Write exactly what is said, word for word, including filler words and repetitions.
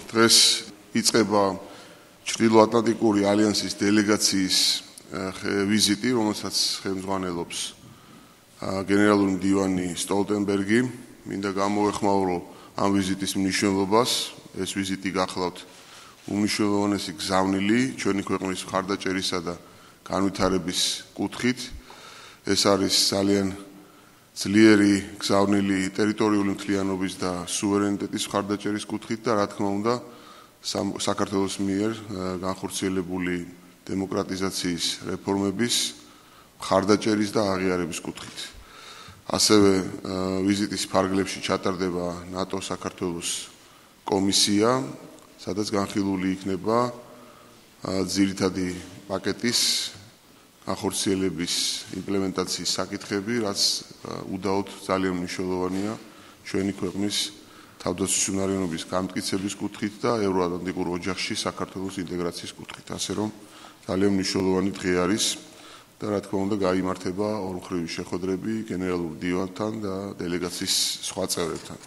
დღეს იწყება ჩრდილოატლანტიკური ალიანსის დელეგაციის ვიზიტი, რომელსაც ხელმძღვანელობს გენერალური მდივანი სტოლტენბერგი. მინდა გამოვეხმაურო ამ ვიზიტის მნიშვნელობას. ეს ვიზიტი გახლავთ უმნიშვნელოვანესი გზავნილი ჩვენი ქვეყნის მხარდაჭერისა და განვითარების კუთხით. ეს არის ძალიან ძლიერი გზავნილი ტერიტორიული მთლიანობის და სუვერენიტეტის მხარდაჭერის კუთხით და რა თქმა უნდა საქართველოს მიერ განხორციელებული დემოკრატიზაციის რეფორმების მხარდაჭერის და აღიარების კუთხით. ასევე ვიზიტის ფარგლებში ჩატარდება ნატო-საქართველოს კომისია, სადაც განხილული იქნება ძირითადი პაკეტის განხორციელების იმპლემენტაციის საკითხები, რაც უდაოდ ძალიან მნიშვნელოვანია ჩვენი ქვეყნის თავდაცვის უნარიანობის გამტკიცების კუთხით და ევროატლანტიკურ ოჯახში საქართველოს ინტეგრაციის კუთხით. ასე რომ ძალიან მნიშვნელოვანი დღე არის და რა თქმა უნდა გაიმართება ორმხრივი შეხვედრები გენერალურ მდივანთან და დელეგაციის სხვა წევრებთან.